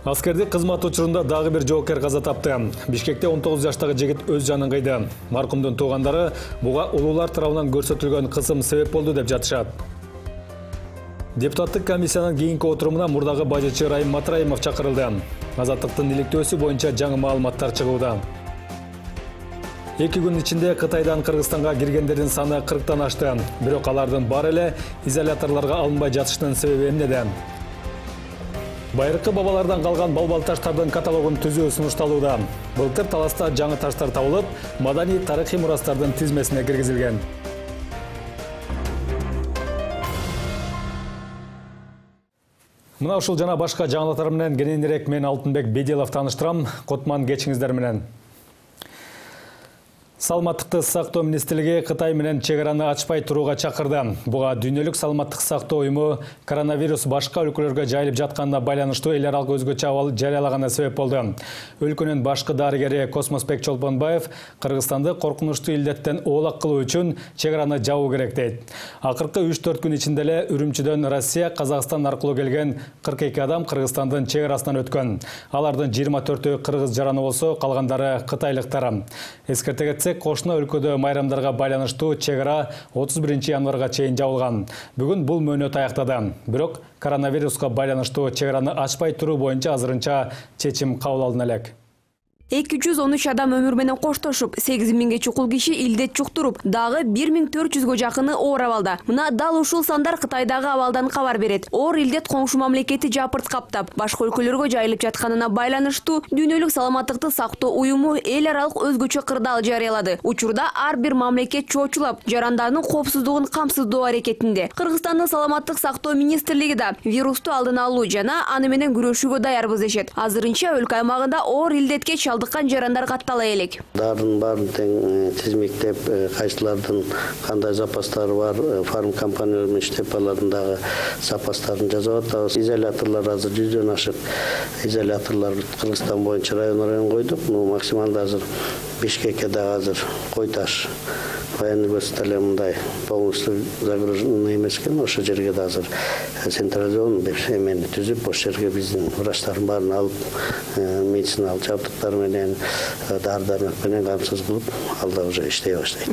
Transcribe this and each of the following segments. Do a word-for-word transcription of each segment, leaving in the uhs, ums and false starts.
Аскердик кызмат учурунда дагы бир жоокер каза тапты. Бишкекте он тогуз жаштагы жигит өз жанын кыйды. Маркумдун туугандары буга улуулар тарабынан көрсөтүлгөн кысым себеп болду деп жатышат. Депутаттык комиссиянын кийинки отурумуна мурдагы бажычы Райым Матраимов чакырылды. Азаттыктын иликтөөсү боюнча жаңы маалыматтар чыгууда. Эки күн ичинде Кытайдан Кыргызстанга киргендердин саны кырктан ашты. Бирок алардын баары эле изоляторлорго алынбай жатышынын себеби эмнеде? Байыркы бабалардан калган балбал таштардын каталогун түзүү сунушталууда. Былтыр таласта жаңы таштар табылып, маданий тарыхый мурастардын тизмесине киргизилген. Мына ушул жана башка жаңылыктар менен кененирээк мен Алтынбек Беделов тааныштырам. Котман кечиңиздер менен. Саламаттыкты сактоо министрлиги Кытай менен чек араны ачпай турууга чакырды. Буга Дүйнөлүк саламаттык сактоо уюму коронавирус башка өлкөлөргө жайылып жатканына байланыштуу эл аралык өзгөчө абал жарыялаганы себеп болду. Өлкөнүн башкы дарыгери Космосбек Чолпонбаев Кыргызстанды коркунучтуу илдеттен оолак кылуу үчүн чек араны жабуу керек дейт. Акыркы үч төрт күн ичинде эле Үрүмчүдөн Россия, Казакстан аркылуу келген кырк эки адам Кыргызстандын чек арасынан өткөн. Алардын жыйырма төртөө кыргыз жараны болсо, калгандары кытайлыктар. Эскерте кетсек, кошуна өлкөдө майрамдарга байланыштуу чек ара отуз биринчи январга чейин жабылган. Бүгүн бул мөөнөт аяктады. Бирок коронавируска байланыштуу чек араны ачпай туруу боюнча азырынча чечим кабыл алына элек. эки жүз он үч адам өмүр менен коштошуп, сегиз миңге чукул киши илдет жуктуруп, дагы бир миң төрт жүзгө жакыны оор абалда. Мына дал ушул сандар Кытайдагы абалдан кабар берет. Оор илдет коңшу мамлекети жапырт каптап, башка өлкөлөргө жайылып жатканына байланыштуу Дүйнөлүк саламаттыкты сактоо уюму эл аралык өзгөчө кырдаал жарыялады. Учурда ар бир мамлекет чоочулап, жарандарынын коопсуздугун камсыздоо аракетинде. Кыргызстандын саламаттык сактоо министрлиги да вирусту алдын алуу жана аны менен күрөшүүгө даярбыз дешет. Азырынча өлкө аймагында оор илдетке дыккан жарандар каттала элек. Дарын барын тең тизмектеп, кайсылардын кандай запастары бар, фарм компаниялар менен иштеп алардын дагы запастарын жасап атабыз. Изоляторлор азыр жүздөн ашык изоляторлор Кыргызстан боюнча район район койдук. Ну максималда азыр Бишкекке дагы азыр Койташ военный госпиталь мындай полностью загружен эмес экен. Ошол жерге да азыр централизованный бир эмени түзүп, ошол жерге биздин врачтардын баарын алып, медициналык жабдыктар менен дары-дармек менен камсыз кылып, алда уже иштей баштайт.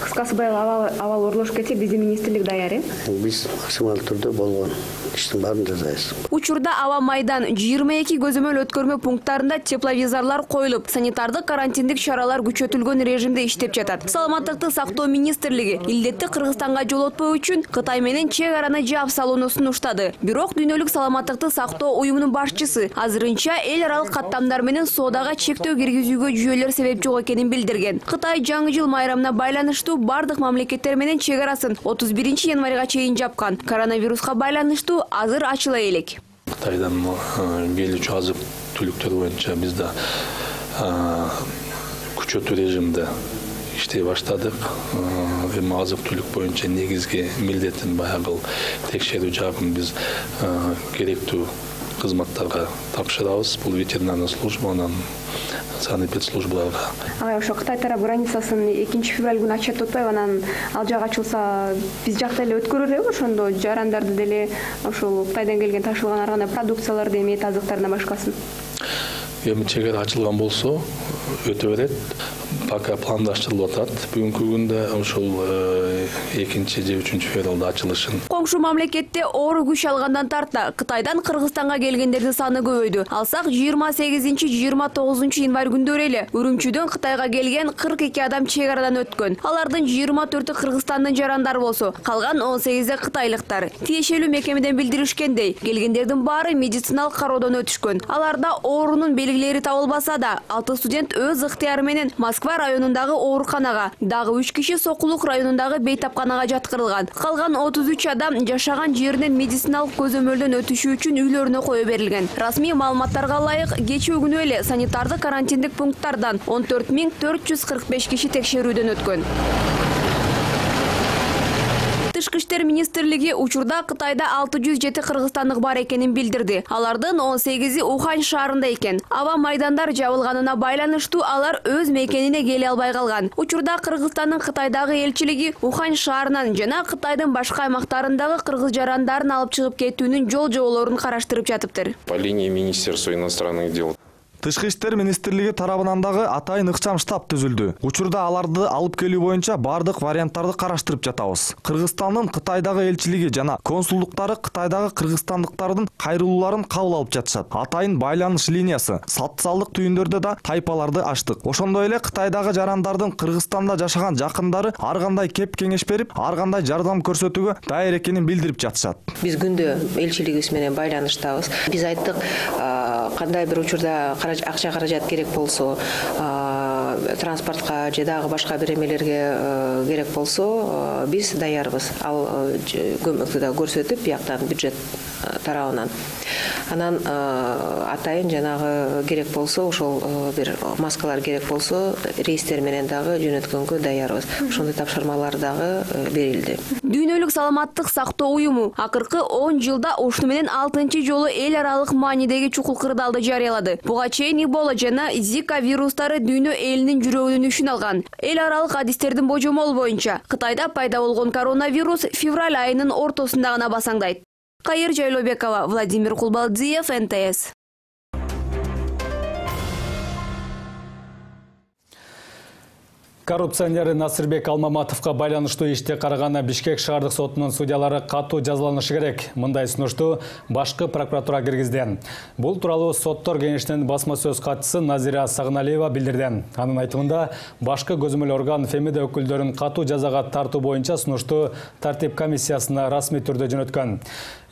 Кыскасы быйыл абал оролошуп кетсе, биздин министрлик даяр, э? Биз максималдуу түрдө болгон иштин баарын жасайбыз. Учурда аба майдан жыйырма эки көзөмөл өткөрмө пункттарында тепловизорлор коюлуп, санитардык карантиндик чаралар күчөтүлгөн режимде иштеп жатат. Саламаттыкты сактоо министрлиги илдетти Кыргызстанга жолотпоо үчүн Кытай менен чек араны жаап салууну сунуштады. Бирок Дүйнөлүк саламаттыкты сактоо уюмунун башчысы азырынча эл аралык каттамдар менен соодага чектөө киргизүүгө жүйөлөр себеп жок экенин билдирген. Кытай жаңы жыл майрамына байланыштуу бардык мамлекеттер менен чек арасын отуз биринчи январга чейин жапкан. Коронавируска байланыштуу азыр ачыла элек. Кытайдан келүүчү азык түлүктөр боюнча биз да күчөтүү режимде иштей баштадык. Эми азык түлүк боюнча негизги милдетин баягы текшерүү жагын биз керектүү кызматтарга тапшырабыз. Бул ветеринарный служба, анан санэпидслужбаларга. Ага, ошо Кытай тарап границасын экинчи февраль күнү ачат деп атпайбы, анан ал жак ачылса, биз жакта эле өткөрөлөрбү ошондо жарандарды деле ошол Кытайдан келген ташылган ар кандай продукцияларды, эми азыктарына башкасын? Эми чек ара ачылган болсо өтө берет. Пока пландаштырылып атат. Бүгүнкү күндө ошол экинчи же үчүнчү февралда ачылышын. Коңшу мамлекетте оор күч алгандан тарта Кытайдан Кыргызстанга келгендердин саны көбөйдү. Алсак жыйырма сегизинчи жыйырма тогузунчу январь күндөрү эле Үрүмчүдөн Кытайга келген кырк эки адам чек арадан өткөн. Алардын жыйырма төртү Кыргызстандын жарандары болсо, калган он сегизи кытайлыктар. Тиешелүү мекемеден билдиришкендей, келгендердин баары медициналык кароодон өтүшкөн. Аларда оорунун белгилери табылбаса да, алты студент өз ыктыяры менен Москва районундагы ооруканага, дагы үч киши Сокулук районундагы бейтапканага жаткырылган. Калган отуз үч адам жашаган жеринен медициналык көзөмөлдөн өтүшү үчүн үйлөрүнө кое берилген. Расмий маалыматтарга ылайык, кечээ күнү эле санитардык карантиндик пункттардан он төрт миң төрт жүз кырк беш киши текшерүүдөн өткөн. Тышкы иштер министрлиги учурда Кытайда алты жүз жети кыргызстандык бар экенин билдирди. Алардын он сегизи Ухань шаарында экен. Аба майдандар жабылганына байланыштуу алар өз мекенине келе албай калган. Учурда Кыргызстандын Кытайдагы элчилиги Ухань шаарынан жана Кытайдын башка аймактарындагы кыргыз жарандарын алып чыгып кетүүнүн жол жоболорун караштырып жатыптыр. По линии Министерства иностранных дел. Тышкы иштер министрлиги тарабынан дагы атайын ыкчам штаб түзүлдү. Учурда аларды алып келүү боюнча бардык варианттарды караштырып жатабыз. Кыргызстандын Кытайдагы элчилиги жана консулдуктары Кытайдагы кыргызстандыктардын кайрылууларын кабыл алып жатышат. Атайын байланыш линиясы, социалдык түйүндөрдө да тайпаларды ачтык. Ошондой эле Кытайдагы жарандардын Кыргызстанда жашаган жакындары ар кандай кеп кеңеш берип, ар кандай жардам көрсөтүүгө даяр экенин билдирип жатышат. Биз күндө элчилигибиз менен байланыштабыз. Биз айттык, кандай бир учурда акча каражат керек болсо, транспортко же дагы башка бир эмелерге керек болсо, биз даярбыз. Ал көмөктү да көрсөтүп, бияктан бюджет тарабынан. Анан атайын жанагы керек болсо, ошол бир маскалар керек болсо, рейстер менен дагы жөнөткөнгө даярбыз. Ошондой тапшырмалар дагы берилди. Дүйнөлүк саламаттык сактоо уюму акыркы он жылда ушуну менен алтынчы жолу эл аралык маанидеги чукул кырдаалды жарыялады. Буга чейин Эбола жана Зика вирустары дүйнө элинин жүрөгүнүн үшүн алган. Эл аралык адистердин божомолу боюнча Кытайда пайда болгон коронавирус февраль айынын ортосунда гана басаңдайт. Кайыр Жайлообекова, Владимир Кулбалдиев, эн тэ эс. Коррупционер Насырбек Алмаматовго байланыштуу иште караган Бишкек шаардык сотунун судьялары катуу жазаланышы керек. Мындай сунушту башкы прокуратура киргизди. Бул тууралуу соттор кеңешинин басма сөз катчысы Назира Сагыналиева билдирди. Анын айтымында башкы көзөмөл орган Фемида өкүлдөрүн катуу жазага тартуу боюнча сунушту тартип комиссиясына расмий түрдө жөнөткөн.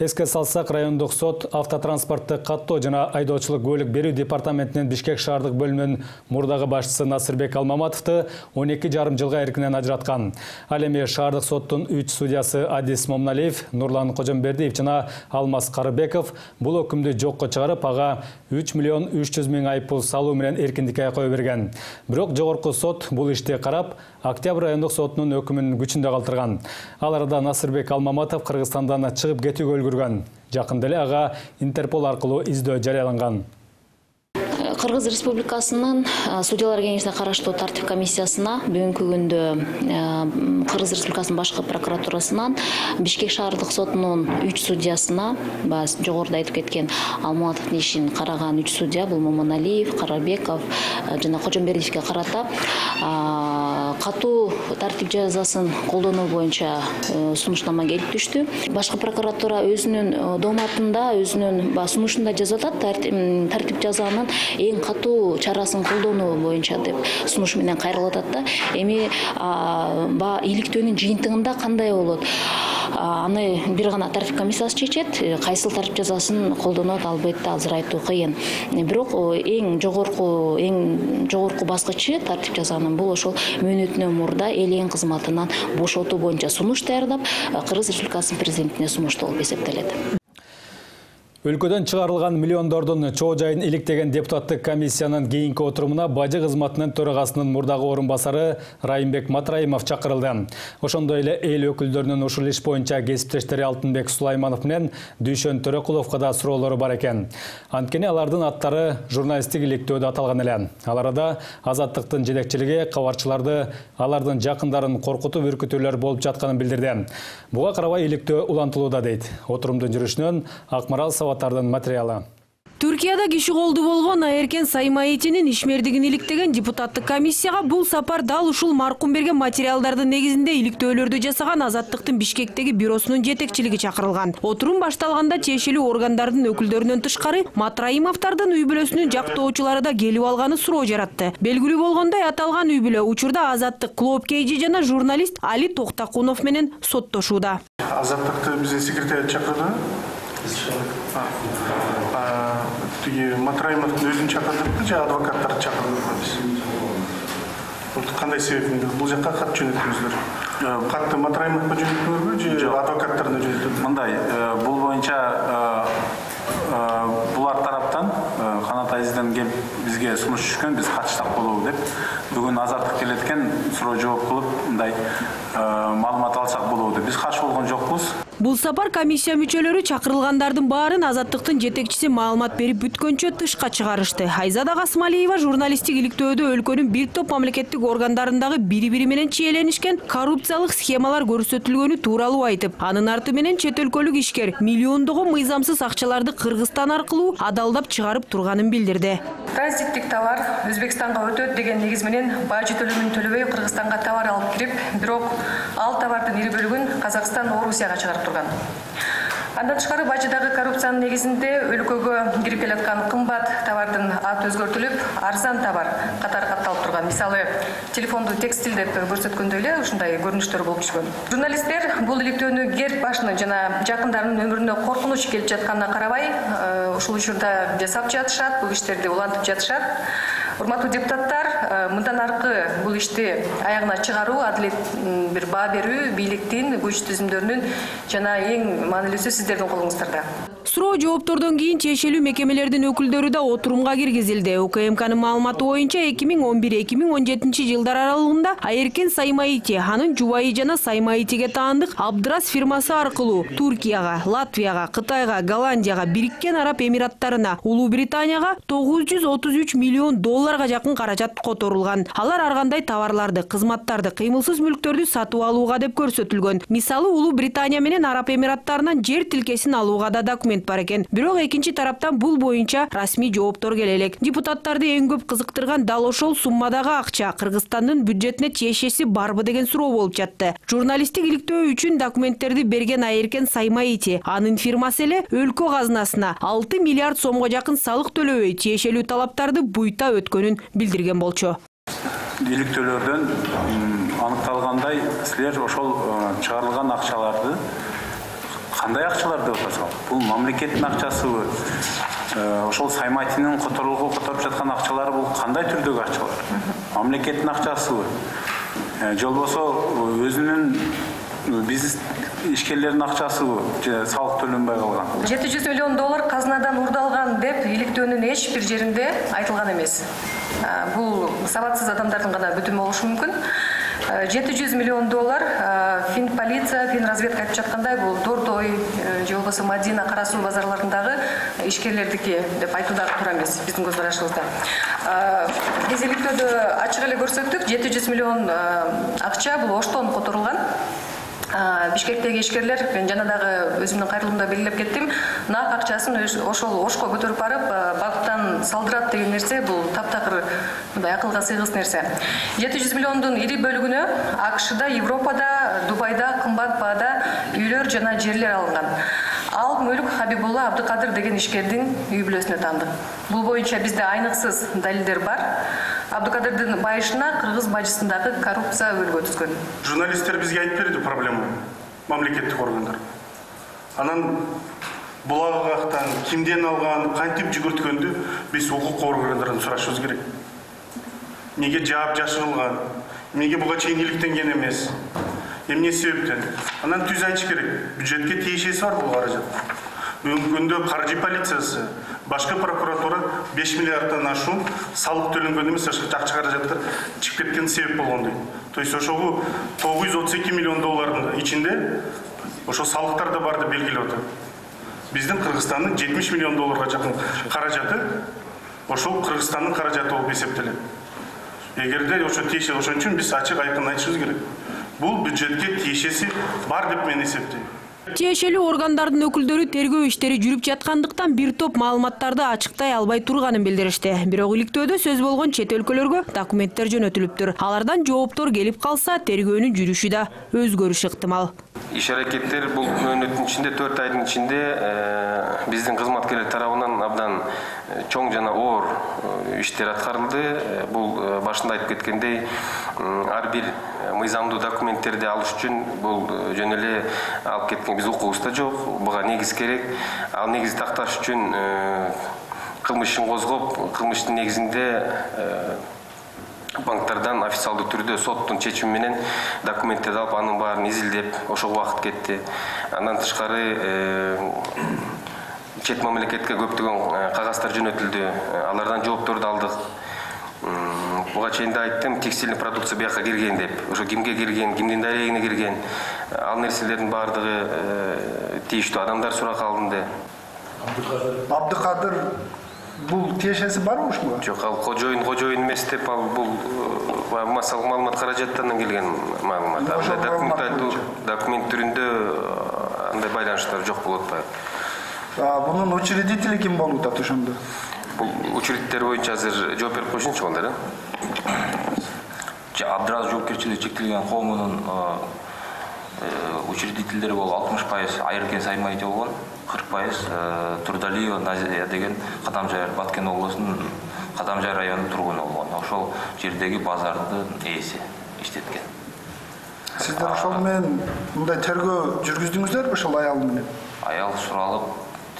Эске салсак, райондук сот автотранспортты каттоо жана айдоочулук көлүк берүү департаментинин Бишкек шаардык бөлүмүнүн мурдагы башчысы Насырбек Алмаматовду он эки жарым жылга эркинен ажыраткан. Ал эми шаардык соттун үч судьясы Адис Момналиев, Нурлан Кожомбердиев жана Алмаз Карыбеков бул өкүмдү жокко чыгарып, ага үч миллион үч жүз миң айыппул салуу менен эркиндикке кое берген. Бирок жогорку сот бул ишти карап, Октябрь райондук сотунун өкүмүн күчүндө калтырган. Ал арада Насырбек Алмаматов Кыргызстандан чыгып кетүүгө үлгүргөн. Жакында эле ага Интерпол аркылуу издөө жарыяланган. Кыргыз Республикасынын судьялар кеңешине караштуу тартип комиссиясына бүгүнкү күндө Кыргыз Республикасынын башкы прокуратурасынан Бишкек шаардык сотунун үч судьясына, баз жогоруда айтып кеткен Алмаматовдун ишин караган үч судья, бул Момоналиев, Карабеков жана Кожомбердиевге карата катуу тартип жазасын колдонуу боюнча сунуштама келип түштү. Башкы прокуратура өзүнүн дооматында, өзүнүн сунушунда жазып атат, тартип жазанын эң катуу чарасын колдонуу боюнча деп сунуш менен кайрылып атат да. Эми иликтөөнүн жыйынтыгында кандай болот? Аны бир гана тартип комиссиясы чечет, кайсыл тартип жазасын колдонот албетте азыр айтуу кыйын. Бирок эң жогорку эң жогорку баскычы тартип жазанын бул ошол мөөнөтүнөн мурда эл эң кызматынан бошотуу боюнча сунуш даярдап, Кыргыз Республикасынын президентине сунуштоо болуп эсептелет. Өлкөдөн чыгарылган миллиондордун чоо жайын иликтеген депутаттык комиссиянын кийинки отурумуна бажы кызматынын төрагасынын мурдагы орун басары Райымбек Матраимов чакырылды. Ошондой эле эл өкүлдөрүнүн ушул иш боюнча кесиптештери Алтынбек Сулайманов менен Дүйшөн Төрөкуловго да суроолору бар экен. Анткени алардын аттары журналисттик иликтөөдө аталган эле. Ал арада Азаттыктын жетекчилиги кабарчыларды алардын жакындарын коркутуп үркүтүүлөр болуп жатканын билдирди. Буга карабай иликтөө улантылууда дейт. Отурумдун жүрүшүнөн Акмарал Саваттардын материалы. Түркияда киши колду болгон Айеркен Саймаитинин ишмердигин иликтеген депутаттык комиссияга бул сапар дал ушул маркум берген материалдардын негизинде иликтөөлөрдү жасаган Азаттыктын Бишкектеги бюросунун жетекчилиги чакырылган. Отурум башталганда тиешелүү органдардын өкүлдөрүнөн тышкары Матраимовдордун үй бүлөсүнүн жактоочулары да келип алганы суроо жаратты. Белгилүү болгондой, аталган үй бүлө учурда Азаттык клуб кейжи жана журналист Али Токтакунов менен соттошууда. Азаттыкты биздин секретариат чакырды. Тиги Матраимовдун өзүн чакырдык же адвокаттарды чакырдык. Кандай себептен бул жакка кат жөнөттүңүздөр? Катты Матраимовго жөнөттүңүзбү же адвокаттарына жөнөттүңүзбү? Мындай, бул боюнча булар тараптан Канат Азизден келип бизге сунуш түшкөн, биз катыштык болобу деп. Бүгүн Азаттык келеткен суроо жооп кылып, мындай маалымат алсак болобу. Биз каршы болгон жокпуз. Бул сапар комиссия мүчөлөрү чакырылгандардын баарын азаттыктын жетекчиси маалымат берип бүткөнчө тышка чыгарышты. Айзада Касымалиева журналисттик иликтөөдө өлкөнүн бир топ мамлекеттик органдарындагы бири-бири менен чиеленишкен коррупциялык схемалар көрсөтүлгөнү тууралуу айтып, анын арты менен чет өлкөлүк ишкер миллиондогон мыйзамсыз акчаларды Кыргызстан аркылуу адалдап чыгарып турганын билдирди. Транзиттик товар Өзбекстанга өтөт деген негиз менен бажы төлөмүн төлөбөй Кыргызстанга товар алып кирип, бирок ал товардын ири бөлүгүн Казакстан, Орусияга чыгарып турган. Андан тышкары бажыдагы коррупциянын негизинде өлкөгө кирип келаткан кымбат товардын аты өзгөртүлүп, арзан товар катары катталып турган. Мисалы, телефонду текстиль деп көрсөткөндө эле ушундай көрүнүштөр болуп түшкөн. Журналисттер бул иликтөөнү Герб башынын жана жакындарынын өмүрүнө коркунуч келип жатканына карабай, ушул учурда жасап жатышат, бул иштерди улантып жатышат. Урматтуу депутаттар, мындан аркы бул ишти аягына чыгаруу, адилет бир баа берүү бийликтин, күч түзүмдөрүнүн жана эң маанилүүсү сиздердин колуңуздарда. Суроо жооптордон кийин тиешелүү мекемелердин өкүлдөрү да отурумга киргизилди. УКМКнын маалыматы боюнча эки миң он бир эки миң он жетинчи жылдар аралыгында Айеркен Саймаити, анын жубайы жана Саймаитиге таандык Абдрас фирмасы аркылуу Туркияга, Латвияга, Кытайга, Голландияга, Бириккен Араб Эмираттарына, Улуу Британияга тогуз жүз отуз үч миллион долларга жакын каражат которулган. Алар ар кандай товарларды, кызматтарды, кыймылсыз мүлктөрдү сатып алууга деп көрсөтүлгөн. Мисалы, Улуу Британия менен Араб Эмираттарынан жер тилкесин алууга да документ бар экен. Бирок экинчи тараптан бул боюнча расмий жооптор келе элек. Депутаттарды эң көп кызыктырган дал ошол суммадагы акча Кыргызстандын бюджетине тиешеси барбы деген суроо болуп жатты. Журналисттик иликтөө үчүн документтерди берген Айеркен Саймаити, анын фирмасы эле өлкө казынасына алты миллиард сомго жакын салык төлөбөй тиешелүү талаптарды буйта өткөнүн билдирген болчу. Иликтөөлөрдөн аныкталгандай, силер ошол чыгарылган акчаларды кандай акчалар деп атасыңар? Бул мамлекеттин акчасыбы? Ошол Саймайтинин которууга которуп жаткан акчалары бул кандай түрдөгү акчалар? Мамлекеттин акчасыбы? Же болбосо өзүнүн бизнес ишкерлердин акчасыбы? Же салык төлөнбөй калган? жети жүз миллион доллар казынадан урдалган деп иликтөөнүн эч бир жеринде айтылган эмес. Бул сабатсыз адамдардын гана бүтүмү болушу мүмкүн. жети жүз миллион доллар фин полиция, фин разведка айтып жаткандай бул Дордой же болбосо Мадина, Кара суу базарларындагы ишкерлердики деп айтуу дагы туура эмес биздин көз карашыбызда. Биз иликтөөдө ачык эле көрсөттүк, жети жүз миллион акча бул Оштон которулган. Бишкектеги ишкерлер, мен жана дагы өзүмдүн кайрылуумда белгилеп кеттим, нак акчасын ошол Ошко көтөрүп барып, багыттан салдырат деген нерсе бул таптакыр мындай акылга сыйгыс нерсе. жети жүз миллиондун ири бөлүгүнө АКШда, Европада, Дубайда кымбат баада үйлөр жана жерлер алынган. Ал мүлк Хабибулла Абдыкадыр деген ишкердин үй бүлөсүнө таандык. Бул боюнча бизде айныксыз далилдер бар. Абдыкадырдын байышына кыргыз бажысындагы коррупция өргө түзгөн. Журналисттер бизге айтып берди проблема, мамлекеттик органдар. Анан булагактан кимден алган, кантип жүгүрткөндү биз укук органдарынан сурашыбыз керек. Неге жаап жашырылган? Неге буга чейин иликтенген эмес? Эмне себептен? Анан түз айтыш керек. Бюджетке тиешеси бар бул каражат. Бүгүнкү күндө каржы полициясы, башка прокуратура беш миллиарддан ашуун салык төлөнгөн эмес, акча каражаттар чыгып кеткен себеп болгон дейт. То есть ошого тогуз жүз отуз эки миллион доллардын ичинде ошо салыктар да бар деп белгилеп атат. Биздин Кыргызстандын жетимиш миллион долларга жакын каражаты ошол Кыргызстандын каражаты болуп эсептелет. Эгерде ошо тиешеси ошон үчүн биз ачык айкын айтышыбыз керек. Бул бюджетке тиешеси бар деп мен эсептейм. Тиешелүү органдардын өкүлдөрү тергөө иштери жүрүп жаткандыктан бир топ маалыматтарды ачыктай албай турганын билдиришти. Бирок иликтөөдө сөз болгон чет өлкөлөргө документтер жөнөтүлүптүр. Алардан жооптор келип калса, тергөөнүн жүрүшү да өзгөрүшү ыктымал. Иш аракеттер бул мөөнөттүн ичинде төрт айдын ичинде биздин кызматкерлер тарабынан абдан чоң жана оор иштер аткарылды. Бул башында айтып кеткендей, ар бир мыйзамдуу документтерди алыш үчүн бул жөн эле алып кеткен биз укугубузда жок. Буга негиз керек. Ал негизди такташ үчүн кылмыш ишин козгоп, кылмыштын негизинде банктардан официалдуу түрдө соттун чечими менен документтерди алып, анын баарын изилдеп, ошол убакыт кетти. Андан тышкары чет мамлекетке көптөгөн кагаздар жөнөтүлдү. Алардан жоопторду алдык. Буга чейин да айттым, текстильный продукция бияка кирген деп. Ошо кимге кирген, кимдин дарегине кирген, ал нерселердин баардыгы тийиштүү адамдар суракка алынды. Абдыкадыр бул тиешеси барбы ушуга? Жок, ал кожоюн кожоюн эмес деп, ал бул массалык маалымат каражаттарынан келген маалымат. Документ түрүндө андай байланыштар жок болуп атпайбы. Бунун учредители ким болуп атат ошондо? Бул учредителер боюнча азыр жооп берип койсунчу онда да. Абдраз жоопкерчилиги чектелген коомунун учредительдери болуп алтымыш пайыз Айыркен Саймаити болгон, кырк пайыз Турдалиева Назия деген Кадамжай Баткен облусунун Кадамжай районунун тургуну болгон. Ошол жердеги базардын ээси иштеткен. Сиздер ошол менен мындай тергөө жүргүздүңүздөрбү ошол аял менен? Аял суралып,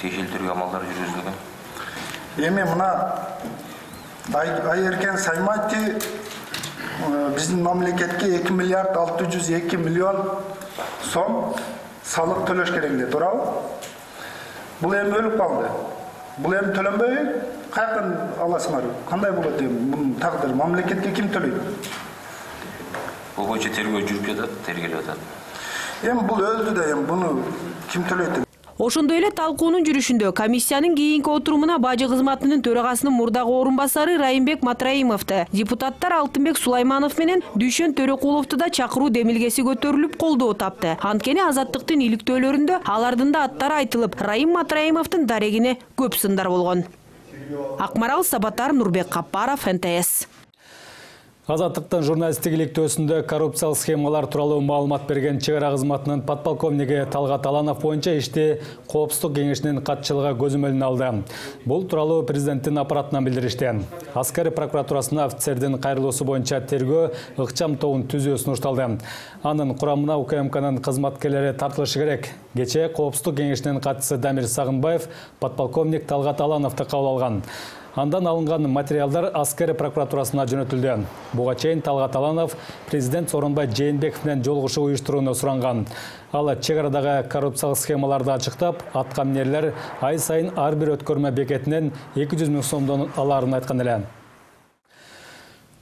тиешелүү тергөө амалдары жүргүзүлгөн. Эми мына Айыркен Саймаити биздин мамлекетке эки миллиард алты жүз эки миллион сом салык төлөш керек эле, туурабы? Бул эми өлүп калды. Бул эми төлөнбөй каяктан аласыңар? Кандай болот эми бунун тагдыры? Мамлекетке ким төлөйт? Бул боюнча тергөө жүрүп жатат, тергелип атат. Эми бул өлдү да, эми буну ким төлөйт? Ошондой эле талкуунун жүрүшүндө комиссиянын кийинки отурумуна бажы кызматынын төрагасынын мурдагы орун басары Райымбек Матраимовду, депутаттар Алтынбек Сулайманов менен Дүйшөн Төрөкуловду да чакыруу демилгеси көтөрүлүп колдоо тапты. Анткени азаттыктын иликтөөлөрүндө алардын да аттары айтылып, Райым Матраимовдун дарегине көп сындар болгон. Акмарал Сабатар, Нурбек Капаров, эн тэ эс. Азаттыктын журналисттик иликтөөсүндө коррупциялык схемалар тууралуу маалымат берген чек ара кызматынын подполковниги Талгат Аланов боюнча ишти Коопсуздук кеңешинин катчылыгы көзөмөлүнө алды. Бул тууралуу президенттин аппаратынан билдиришти. Аскер прокуратурасына офицердин кайрылуусу боюнча тергөө ыкчам тобун түзүү сунушталды. Анын курамына У К М Кнын кызматкерлери тартылышы керек. Кечээ Коопсуздук кеңешинин катчысы Дамир Сагынбаев подполковник Талгат Алановду кабыл алган. Андан алынган материалдар Аскер прокуратурасына жөнөтүлдү. Буга чейин Талгат Аланов президент Сооронбай Жээнбеков менен жолугушуу уюштурууну суранган. Ал чек арадагы коррупциялык схемаларды ачыктап, аткаминерлер ай сайын ар бир өткөрмө бекетинен эки жүз миң сомдон алаарын айткан эле.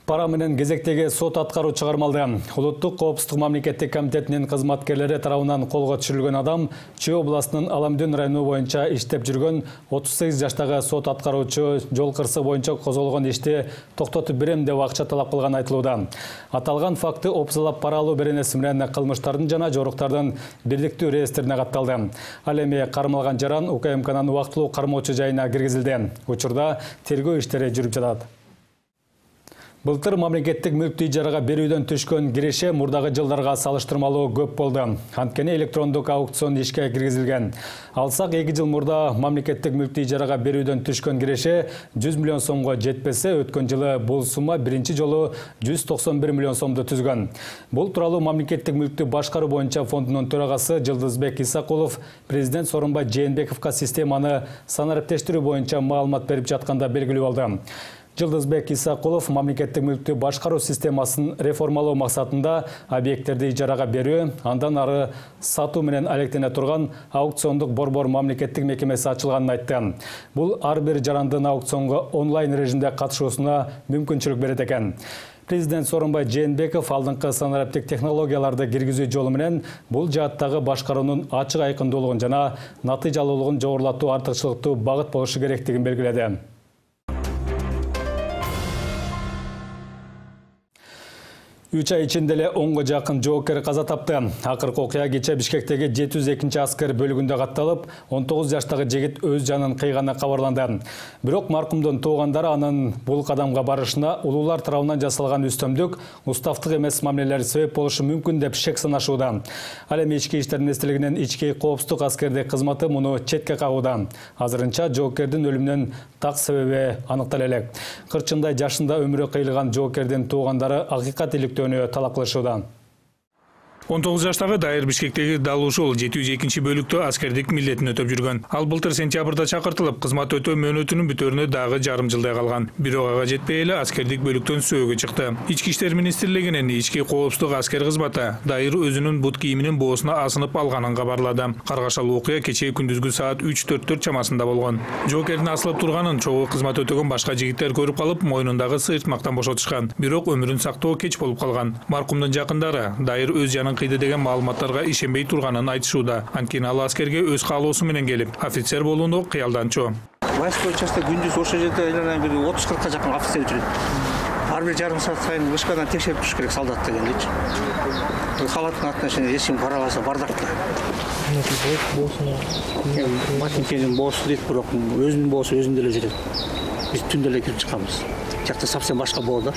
Пара менен кезектеги сот аткаруу чыгармалды. Улуттук коопсуздук мамлекеттик комитетинин кызматкерлери тарабынан колго түшүрүлгөн адам Чүй областынын Аламдын району боюнча иштеп жүргөн отуз сегиз жаштагы сот аткаруучу жол кырсы боюнча козголгон ишти токтотуп берем деп акча талап кылган айтылууда. Аталган факты опсалап пара алуу беренеси менен кылмыштардын жана жоруктардын бирдиктүү реестрине катталды. Ал эми кармалган жаран У К М Кнын убактылуу кармоочу жайына киргизилди. Учурда тергөө иштери жүрүп жатат. Былтыр мамлекеттик мүлктү ижарага берүүдөн түшкөн киреше мурдагы жылдарга салыштырмалуу көп болду. Анткени электрондук аукцион ишке киргизилген. Алсак эки жыл мурда мамлекеттик мүлктү ижарага берүүдөн түшкөн киреше жүз миллион сомго жетпесе, өткөн жылы бул сумма биринчи жолу жүз токсон бир миллион сомду түзгөн. Бул тууралуу мамлекеттик мүлктү башкаруу боюнча фондунун төрагасы Жылдызбек Исакулов президент Сооронбай Жээнбековго системаны санариптештирүү боюнча маалымат берип жатканда белгилүү болду. Жылдызбек Исакулов мамлекеттик мүлктү башкаруу системасын реформалоо максатында объекттерди ижарага берүү, андан ары сатуу менен алектене турган аукциондук борбор мамлекеттик мекемеси ачылганын айтты. Бул ар бир жарандын аукционго онлайн режимде катышуусуна мүмкүнчүлүк берет экен. Президент Сооронбай Жээнбеков алдыңкы санариптик технологияларды киргизүү жолу менен бул жааттагы башкаруунун ачык айкындуулугун жана натыйжалуулугун жогорулатуу артыкчылыктуу багыт болушу керектигин белгиледи. үч ай ичинде эле онго жакын жоокер каза тапты. Акыркы окуя кечээ Бишкектеги жети жүз экинчи аскер бөлүгүндө катталып, он тогуз жаштагы жигит өз жанын кыйганы кабарланды. Бирок маркумдун туугандары анын бул кадамга барышына улуулар тарабынан жасалган үстөмдүк, уставдык эмес мамилелер себеп болушу мүмкүн деп шек санашууда. Ал эми ички иштер министрлигинин ички коопсуздук аскердик кызматы муну четке кагууда. Азырынча жоокердин өлүмүнүн так себеби аныктала элек. Кырчындай жашында өмүрү кыйылган жоокердин туугандары акыйкат иликтөөнү талап кылышууда. он тогуз жаштагы Дайыр Бишкектеги дал ушул жети жүз экинчи бөлүктө аскердик милдетин өтөп жүргөн. Ал былтыр сентябрда чакыртылып, кызмат өтөө мөөнөтүнүн бүтөрүнө дагы жарым жылдай калган. Бирок ага жетпей эле аскердик бөлүктөн сөөгө чыкты. Ички иштер министрлигинин ички коопсуздук аскер кызматы Дайыр өзүнүн бут кийиминин боосуна асынып алганын кабарлады. Каргашалуу окуя кечээ күндүзгү саат үч төрт чамасында болгон. Жоокердин асылып турганын чогуу кызмат өтөгөн башка жигиттер көрүп калып, мойнундагы сыйыртмактан бошотушкан. Бирок өмүрүн сактоо кеч болуп калган. Маркумдун жакындары Дайыр өз жанын кыйды деген маалыматтарга ишенбей турганын айтышууда. Анткени ал аскерге өз каалоосу менен келип, офицер болууну кыялданчу. Войсковой частта күндүз ошол жерде айланайын бир отуз кыркка жакын офицер жүрөт. Ар бир жарым саат сайын вышкадан текшерип туруш керек солдат дегендечи. Халаттын артына чейин эч ким карабаса бардакта. Матинкенин боосу дейт, бирок өзүнүн боосу өзүндө эле жүрөт. Биз түндө эле кирип чыкабыз. Жакта совсем башка боо да.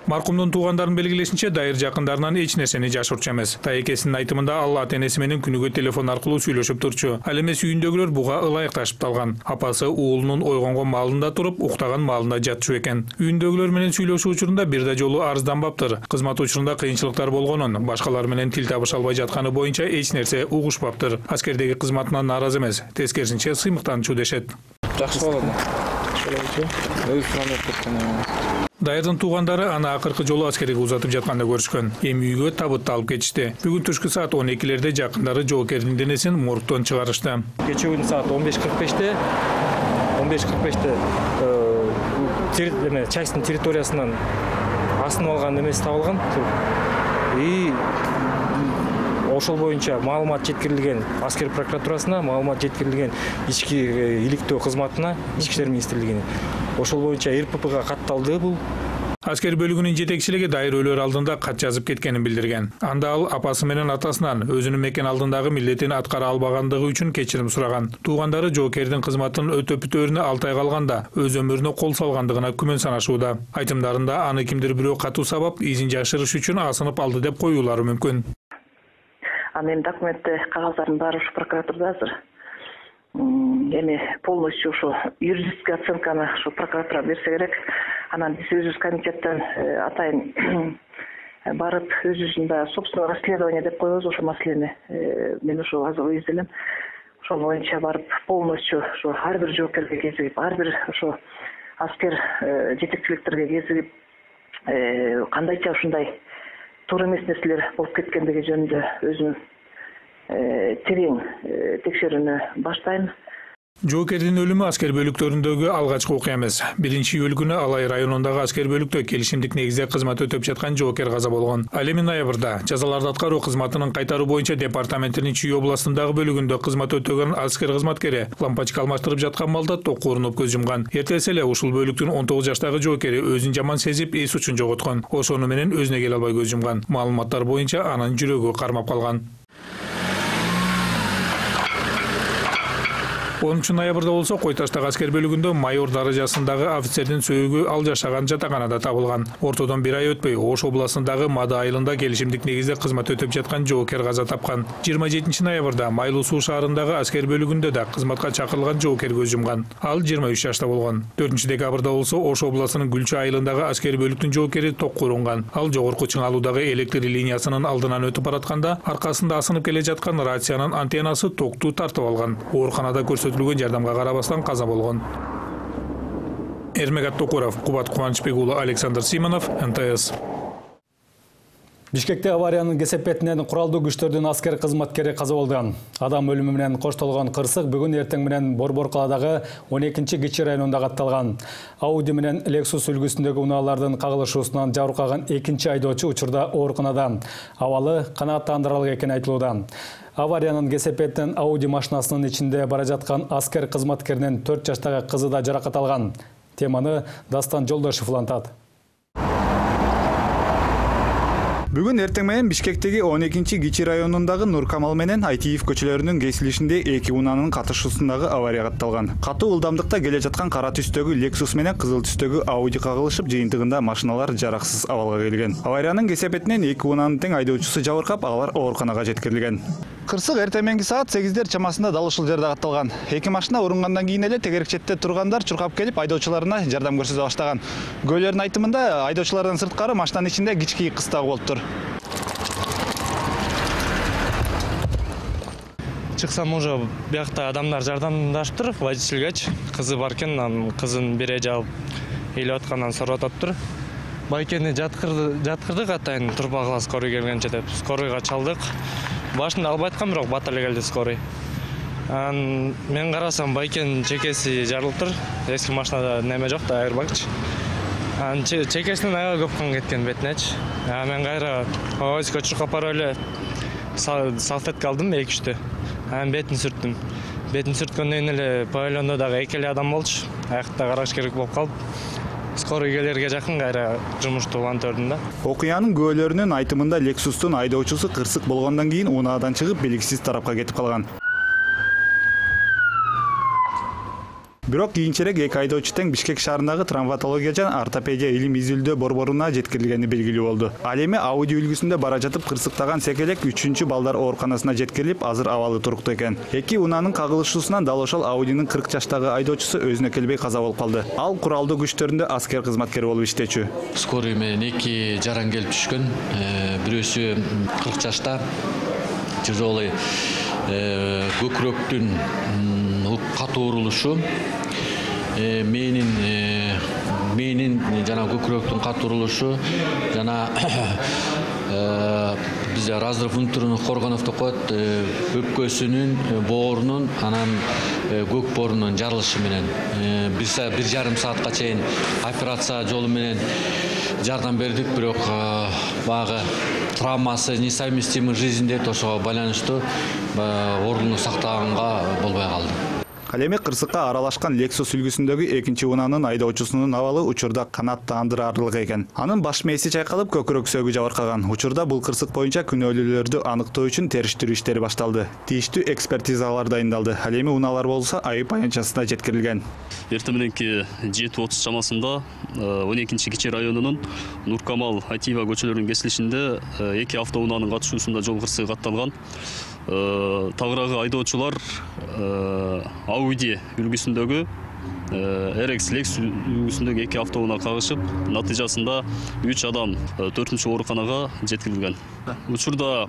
Маркумдун туугандарынын белгилешинче, Дайыр жакындарынан эч нерсени жашырчу эмес. Таекесинин айтымында ал ата-энеси менен күнүгө телефон аркылуу сүйлөшүп турчу. Ал эмес үйүндөгүлөр буга ылайыкташып калган. Апасы уулунун ойгонгон маалында туруп, уктаган маалында жатчу экен. Үйүндөгүлөр менен сүйлөшүү учурунда бир да жолу арызданбаптыр. Кызмат учурунда кыйынчылыктар болгонун, башкалар менен тил табыша албай жатканы боюнча эч нерсе угушпаптыр. Аскердеги кызматынан нааразы эмес, тескерисинче сыймыктанчу дешет. Жакшы болот. Дайырдын туугандары аны акыркы жолу аскерге узатып жатканда көрүшкөн. Эми үйгө табытты алып кетишти. Бүгүн түшкү саат он экилерде жакындары жоокердин денесин моргтон чыгарышты. Кечээ саат он беш кырк беште он беш кырк беште частьтын территориясынан асынып алган эмеси табылган. И ошол боюнча маалымат жеткирилген аскер прокуратурасына, маалымат жеткирилген ички иликтөө кызматына, ички иштер министрлигине. Ошол боюнча эр пэ пэга катталды бул. Аскер бөлүгүнүн жетекчилиги Дайыр өлөр алдында кат жазып кеткенин билдирген. Анда ал апасы менен атасынан өзүнүн мекен алдындагы милдетин аткара албагандыгы үчүн кечирим сураган. Туугандары жоокердин кызматын өтөп бүтөөрүнө алты ай калганда өз өмүрүнө кол салгандыгына күмөн санашууда. Айтымдарында аны кимдир бирөө катуу сабап, изин жашырыш үчүн асынып алды деп коюулары мүмкүн. Анын документте кагаздардын баары ушу прокуратурада азыр. Эми полностью ушу юридический оценканы ушу прокуратура берсе керек. Анан биз өзүбүз комитеттен атайын барып өзүбүздүн да собственное расследование деп коебуз ошол маселени. Мен ошо азыр изделем. Ошол боюнча барып полностью ушу ар бир жоокерге кезигип, ар бир ошо аскер жетекчиликтерге кезигип, кандайча ушундай туура эмес нерселер болуп кеткендиги жөнүндө өзүм терең текшерүүнү баштайм. Жоокердин өлүмү аскер бөлүктөрүндөгү алгачкы окуя эмес. биринчи июль күнү Алай районундагы аскер бөлүктө келишимдик негизде кызмат өтөп жаткан жоокер каза болгон. Ал эми ноябрда жазаларды аткаруу кызматынын кайтаруу боюнча департаменттин Чүй областындагы бөлүгүндө кызмат өтөгөн аскер кызматкери лампочка алмаштырып жаткан малда токко урунуп көз жумган. Эртеси эле ушул бөлүктүн он тогуз жаштагы жоокери өзүн жаман сезип, эс учун жоготкон. Ошону менен өзүнө келе албай көз жумган. Маалыматтар боюнча анын жүрөгү кармап калган. онунчу ноябрда болсо Кой Таштагы аскер бөлүгүндө майор даражасындагы офицердин сөөгү ал жашаган жатаканада табылган. Ортодон бир ай өтпөй Ош областындагы Мада айылында келишимдик негизде кызмат өтөп жаткан жоокер каза тапкан. жыйырма жетинчи ноябрда Майлуу суу шаарындагы аскер бөлүгүндө да кызматка чакырылган жоокер көз жумган. Ал жыйырма үч жашта болгон. төртүнчү декабрда болсо Ош областынын Гүлчү айылындагы аскер бөлүктүн жоокери токко урунган. Ал жогорку чыңалуудагы электр линиясынын алдынан өтүп баратканда аркасында асынып келе жаткан рациянын антеннасы токту тартып алган. Ооруканада көрсөтүлгөн жардамга карабастан каза болгон. Эрмек Аттокуров, Кубат Кубанычбек уулу, Александр Симонов, эн тэ эс. Бишкекте авариянын кесепетинен куралдуу күчтөрдүн аскер кызматкери каза болду. Адам өлүмү менен коштолгон кырсык бүгүн эртең менен Борбор калаадагы он экинчи Кичи районунда катталган. Ауди менен Lexus үлгүсүндөгү унаалардын кагылышуусунан жабыркаган экинчи айдоочу учурда ооруканада. Абалы канааттандырарлык экени айтылууда. Авариянын кесепетинен Ауди машинасынын ичинде бара жаткан аскер кызматкеринин төрт жаштагы кызы да жаракат алган. Теманы Дастан Жолдошев улантат. Бүгүн эртең менен Бишкектеги он экинчи Кичи районундагы Нуркамал менен Айтиев көчөлөрүнүн кесилишинде эки унаанын катышуусундагы авария катталган. Катуу ылдамдыкта келе жаткан кара түстөгү Lexus менен кызыл түстөгү Ауди кагылышып, жыйынтыгында машиналар жараксыз абалга келген. Авариянын кесепетинен эки унаанын тең айдоочусу жабыркап, алар ооруканага жеткирилген. Кырсык эртең мененки саат сегиздер чамасында дал ушул жерде катталган. Эки машина урунгандан кийин эле тегерек четте тургандар чуркап келип айдоочуларына жардам көрсөтө баштаган. Кугөөлөрдүн айтымында айдоочулардан сырткары машинанын ичинде кички кыз дагы болуптур. чыксам уже биякта адамдар жардамдаштыр, водительгечи кызы бар экен, анын кызын бере жаап ыйлап аткандан сурап атыптыр. Байкени жаткырды, жаткырдык атайын турбагыла скорый келгенче деп. Скорыйга чалдык. Башында албай аткан, бирок бат эле келди скорый. Анан мен карасам байкенин чекеси жарылыптыр. Эски машинада неме жок да, айырбагчы. Анан чекесинен аябай көп кан кеткен бетинечи. А мен кайра ой көчүрүп апарып эле салфетка алдым эки үчтү. Анан бетин сүрттүм. Бетин сүрткөндөн эле павильондо дагы эки эле адам болчу. Аякта караш керек болуп калып. Скорый келерге жакын кайра жумушту улантырдым да. Окуянын күбөлөрүнүн айтымында Lexustун айдоочусу кырсык болгондон кийин унаадан чыгып белгисиз тарапка кетип калган. Бирок кийинчерээк эки айдоочу тең Бишкек шаарындагы травматология жана ортопедия илим изилдөө борборуна жеткирилгени белгилүү болду. Ал эми Audi үлгүсүндө бара жатып кырсыктаган секелек үчүнчү балдар ооруканасына жеткирилип, азыр абалы туруктуу экен. Эки унаанын кагылышуусунан дал ошол Audi'нын кырк жаштагы айдоочусу өзүнө келбей каза болуп калды. Ал куралдуу күчтөрүндө аскер кызматкери болуп иштечү. Скорый менен эки жаран келип түшкөн. Бирөөсү кырк жашта, тяжелый көкүрөктүн катуу урулушу, менин менин жана көкүрөктүн катуу урулушу жана бизде разрыв внутренних органов деп коет, өпкөсүнүн, боорунун, анан көк боорунун жарылышы менен бир жарым саатка чейин операция жолу менен жардам бердик, бирок багы травмасы несовместимый жизньде ошого байланыштуу ордуну сактаганга болбой калды. Ал эми кырсыкка аралашкан Lexus үлгүсүндөгү экинчи унаанын айдоочусунун абалы учурда канааттандырарлык экен. Анын баш мээси чайкалып, көкүрөк сөөгү жабыркаган. Учурда бул кырсык боюнча күнөөлүүлөрдү аныктоо үчүн териштирүү иштери башталды. Тийиштүү экспертизалар дайындалды. Ал эми унаалар болсо айып аянтчасына жеткирилген. Эртең мененки жети отуз чамасында он экинчи кичи районунун Нуркамал Атиева көчөлөрүнүн кесилишинде эки автоунаанын катышуусунда жол кырсыгы катталган. Тагыраагы айдоочулар Audi үлгүсүндөгү эр икс Lexus үлгүсүндөгү эки автоунаа кагышып, натыйжасында үч адам төртүнчү ооруканага жеткирилген. Учурда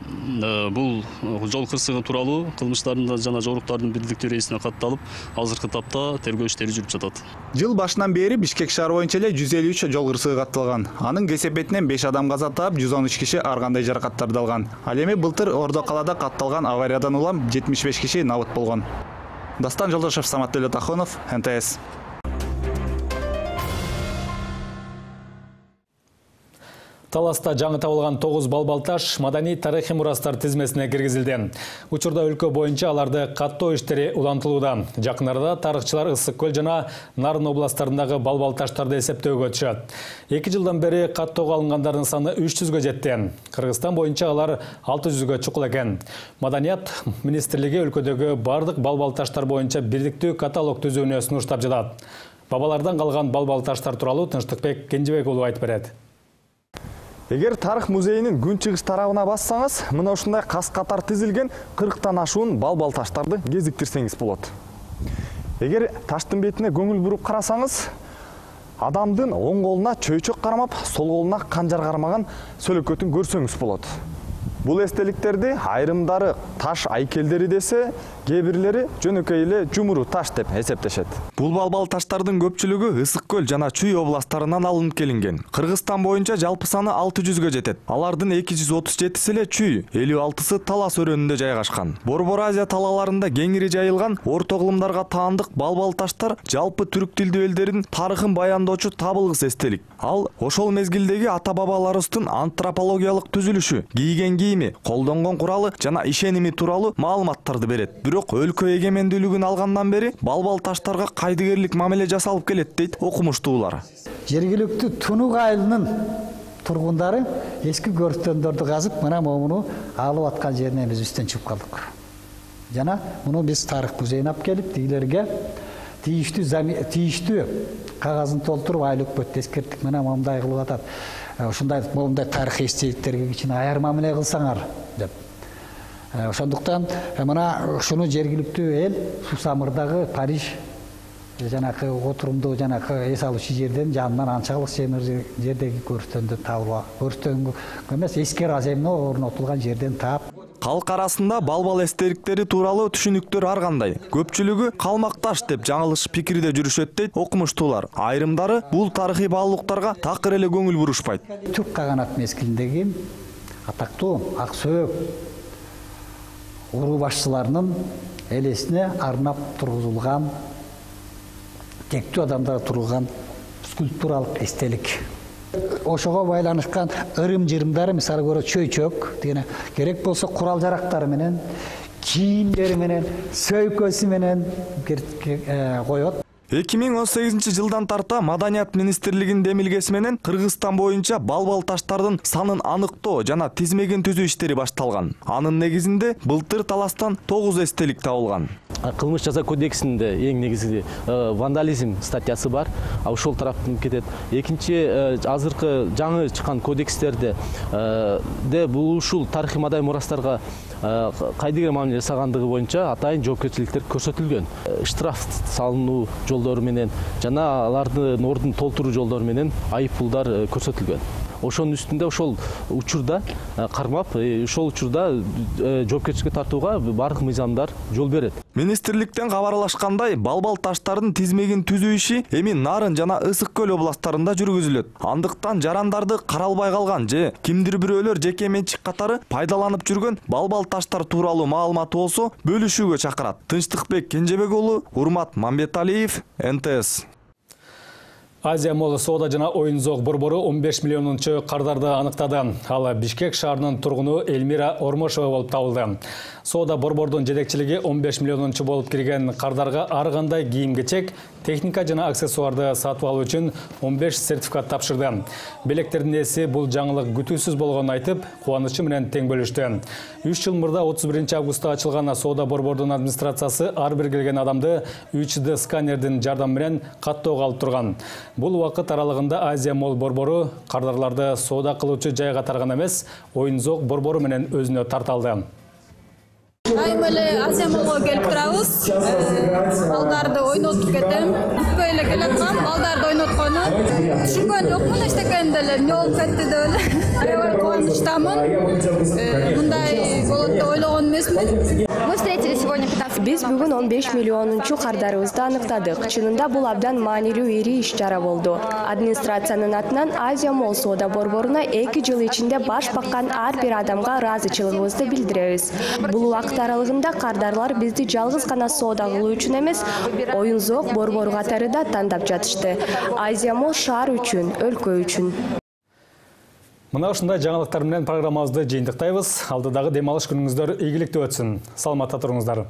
бул жол кырсыгы тууралуу кылмыштардын жана жоруктардын бирдиктүү рейсине катталып, азыркы тапта тергөө иштери жүрүп жатат. Жыл башынан бери Бишкек шаары боюнча эле жүз элүү үч жол кырсыгы катталган. Анын кесепетинен беш адам каза таап, жүз он үч киши ар кандай жаракаттарды алган. Ал эми былтыр Ордо калаада катталган авариядан улам жетимиш беш киши набыт болгон. Дастан Жолдошев, Самат Төлөтахонов, эн тэ эс. Таласта жаңы табылган тогуз балбалташ маданий тарыхый мурастар тизмесине киргизилди. Учурда өлкө боюнча аларды каттоо иштери улантылууда. Жакын арада тарыхчылар Ысык көл жана Нарын областарындагы балбалташтарды эсептөөгө өтүшөт. эки жылдан бери каттоого алынгандардын саны үч жүзгө жетти. Кыргызстан боюнча алар алты жүзгө чукул экен. Маданият министрлиги өлкөдөгү бардык балбалташтар боюнча бирдиктүү каталог түзүүнү сунуштап жатат. Бабалардан калган балбалташтар тууралуу Тынчтыкбек Кенжебек уулу айтып берет. Эгер тарых музейинин күн-чыгыш тарабына бассаңыз, мына ушундай кас-катар тизилген кырктан ашуун балбалташтарды кезиктирсеңиз болот. Эгер таштын бетине көңүл буруп карасаңыз, адамдын оң колуна чөйчөк кармап, сол колуна канжар кармаган сөлөкөтүн көрсөңүз болот. Бул эстеликтерди айрымдары таш айкелдери десе, кээ бирлери жөнөкөй эле жумуру таш деп эсептешет. Бул балбалташтардын көпчүлүгү Ысык көл жана Чүй областтарынан алынып келинген. Кыргызстан боюнча жалпы саны алты жүзгө жетет. Алардын эки жүз отуз жетиси эле Чүй, элүү алтысы Талас өрөөнүндө жайгашкан. Борбор Азия талааларында кеңири жайылган орто кылымдарга таандык балбалташтар жалпы түрк тилдүү элдердин тарыхын баяндоочу табылгыс эстелик. Ал ошол мезгилдеги ата-бабаларыбыздын антропологиялык түзүлүшү, кийген кийими, колдонгон куралы жана ишеними тууралуу маалыматтарды берет. Бирок өлкө эгемендүүлүгүн алгандан бери балбалташтарга кайдыгерлик мамиле жасалып келет дейт окумуштуулар. Жергиликтүү Тунук айылынын тургундары эски көрүстөндөрдү казып, мына муну алып аткан жерине биз үстөн чыгып калдык. Жана муну биз тарых музейине алып келип, тигилерге тийиштүү тийиштүү кагазын толтуруп айлык бөт эскерттик, мына мындай кылып атат. Ушундай момундай тарыхый эстеликтерге кичине аяр мамиле кылсаңар деп. Ошондуктан мына ушуну жергиликтүү эл Сусамырдагы Париж жанакы отурумдуу жанакы эс алуучу жерден жанынан анча алыс жердеги көрүстөндү табылып, көрүстөнгө эмес эскер аземне орнотулган жерден таап. Калк арасында балбал эстеликтери тууралуу түшүнүктөр ар кандай. Көпчүлүгү калмакташ деп жаңылыш пикирде жүрүшөт дейт окумуштуулар. Айрымдары бул тарыхый баалуулуктарга такыр эле көңүл бурушпайт. Түрк каганат мезгилиндеги атактуу Аксөөк уруу башчыларынын элесине арнап тургузулган, тектүү адамдар турган скульптуралык эстелик. Ошого байланышкан ырым-жырымдары, мисалы көрө чөйчөк дегене керек болсо курал жарактары менен, кийимдери менен, сөйкөсү менен коет. эки миң он сегизинчи жылдан тарта Маданият министрлигинин демилгеси менен Кыргызстан боюнча балбал таштардын санын аныктоо жана тизмегин түзүү иштери башталган. Анын негизинде былтыр таластан тогуз эстелик табылган. Кылмыш жаза кодексинде эң негизи вандализм статьясы бар. Ошол тараптан кетет. Экинчи азыркы жаңы чыккан кодекстерде де бул ушул тарыхый мадай мурастарга кайдыгер мамиле жасагандыгы боюнча атайын жоопкерчиликтер көрсөтүлгөн. Штраф салынуу жолдору менен жана алардын ордун толтуруу жолдору менен айып пулдар көрсөтүлгөн. Ошонун үстүндө ошол учурда кармап, ошол учурда жоопкерчиликке тартууга бардык мыйзамдар жол берет. Министрликтен кабарлашкандай, балбал таштардын тизмегин түзүү иши эми Нарын жана Ысык көл областтарында жүргүзүлөт. Андыктан жарандарды каралбай калган же кимдир бирөөлөр жеке менчик катары пайдаланып жүргөн балбал таштар тууралуу маалымат болсо бөлүшүүгө чакырат. Тынчтыкбек Кенжебек уулу, Урмат Мамбеталиев, эн тэ эс. Азия Молл соода жана оюн зоок борбору он беш миллионунчу кардарды аныктады. Ал Бишкек шаарынын тургуну Эльмира Ормошова болуп табылды. Соода борбордун жетекчилиги он беш миллионунчу болуп кирген кардарга ар кандай кийим-кечек, техника жана аксессуарды сатып алуу үчүн он беш сертификат тапшырды. Белектердин ээси бул жаңылык күтүүсүз болгонун айтып, кубанычы менен тең бөлүштү. үч жыл мурда отуз биринчи августта ачылган соода борбордун администрациясы ар бир келген адамды үч дэ сканердин жардамы менен каттоого алып турган. Бул убакыт аралыгында Азия Молл борбору кардарларды соода кылуучу жайга тарган эмес, оюн зоок борбору менен өзүнө тарталды. Айым эле Азия Моллго келип турабыз. Балдарды ойнотуп кетем. Бүткөй эле келе тургам, балдарды ойноткону. Түшүнгөн жокмун эчтекенде эле эмне болуп кетти деп эле. Аябай кубанычтамын. Мындай болот деп ойлогон эмесмин. Мы встретили сегодня пятнадцать. Биз бүгүн он беш миллионунчу кардарыбызды аныктадык. Чынында бул абдан маанилүү ири иш-чара болду. Администрациянын атынан Азия Молл соода борборуна эки жыл ичинде баш баккан ар бир адамга ыраазычылыгыбызды билдиребиз. Бул убакыт аралыгында кардарлар бизди жалгыз гана соода кылуу үчүн эмес, оюн зоок борбору катары да тандап жатышты. Азия Молл шаар үчүн, өлкө үчүн. Мына ушундай жаңылыктар менен программабызды жыйынтыктайбыз. Алдыдагы дем алыш күнүңүздөр ийгиликтүү өтсүн. Саламатта туруңуздар.